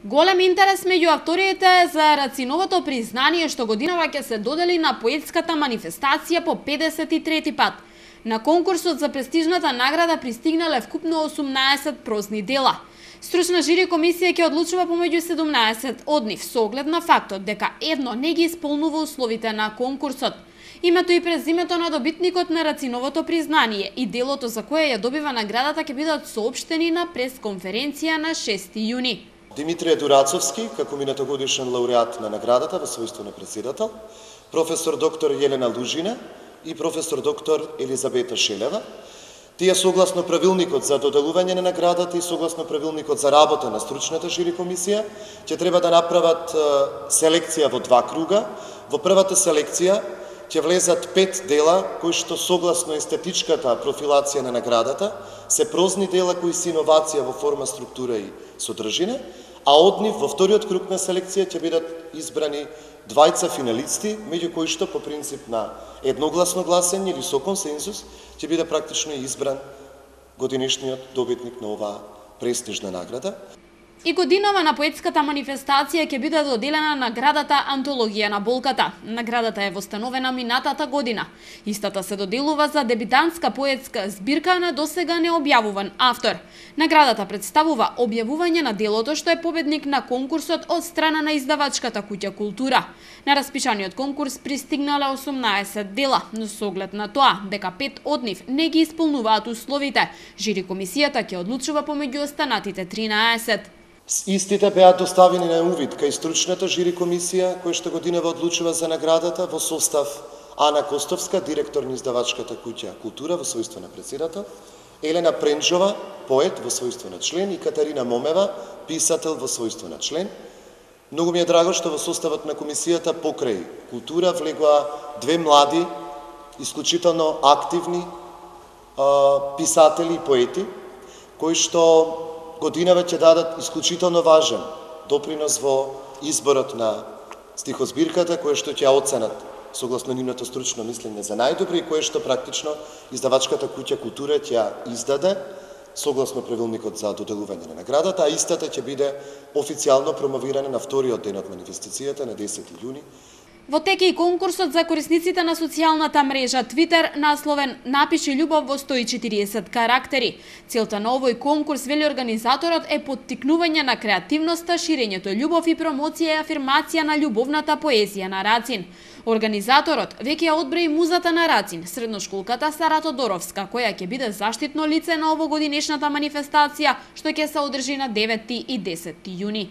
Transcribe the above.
Голем интерес меѓу авторите за Рациновото признание што годинава ќе се додели на поетската манифестација по 53 пат. На конкурсот за престижната награда пристигнале вкупно 18 прозни дела. Стручна жири комисија ќе одлучува помеѓу 17 од нив со оглед на фактот дека едно не ги исполнува условите на конкурсот. Името и презимето на добитникот на Рациновото признание и делото за кое ја добива наградата ќе бидат соопштени на пресконференција на 6 јуни. Димитрije Дурацовски, како минатогодишен лауреат на наградата во својство на председател, професор доктор Јелена Лужина и професор доктор Елизабета Шелева. Тие согласно правилникот за доделување на наградата и согласно правилникот за работа на стручната жири комисија, ќе треба да направат селекција во два круга. Во првата селекција ќе влезат 5 дела кои што согласно естетичката профилација на наградата се прозни дела кои се иновација во форма, структура и содржина, а од нив во вториот круг на селекција ќе бидат избрани двајца финалисти, меѓу кои што по принцип на едногласно гласење или со консензус ќе биде практично избран годинишниот добитник на оваа престижна награда. И годинава на поетската манифестација ќе биде доделена наградата Антологија на болката. Наградата е востановена минатата година. Истата се доделува за дебитантска поетска збирка на досега необјавуван автор. Наградата представува објавување на делото што е победник на конкурсот од страна на издавачката куќа Култура. На распишаниот конкурс пристигнале 18 дела, но со оглед на тоа дека 5 од нив не ги исполнуваат условите, жири комисијата ќе одлучува помеѓу останатите 13. Истите беа доставени на увид кај стручната жири комисија, која што годинава одлучува за наградата во состав Ана Костовска, директор на издавачката куќа Култура во својство на председател, Елена Пренџова, поет во својство на член и Катарина Момева, писател во својство на член. Многу ми е драго што во составот на комисијата покрај Култура влегоа две млади, исклучително активни писатели и поети, кои што годинава ќе дадат исклучително важен допринос во изборот на стихозбирката, која што ќе оценат согласно нивното стручно мислење за најдобри и кое што практично издавачката куќа Култура ќе издаде согласно правилникот за доделување на наградата, а истата ќе биде официјално промовирана на вториот ден од манифестацијата на 10 јуни. Во тек и конкурсот за корисниците на социјалната мрежа Твитер, насловен "Напиши љубов во 140 карактери". Целта на овој конкурс, вели организаторот, е поттикнување на креативноста, ширењето љубов и промоција и афирмација на љубовната поезија на Рацин. Организаторот веќе ја одброи музата на Рацин, средношколката Сара Тодоровска, која ќе биде заштитно лице на овогодинешната манифестација, што ќе се одржи на 9 и 10 јуни.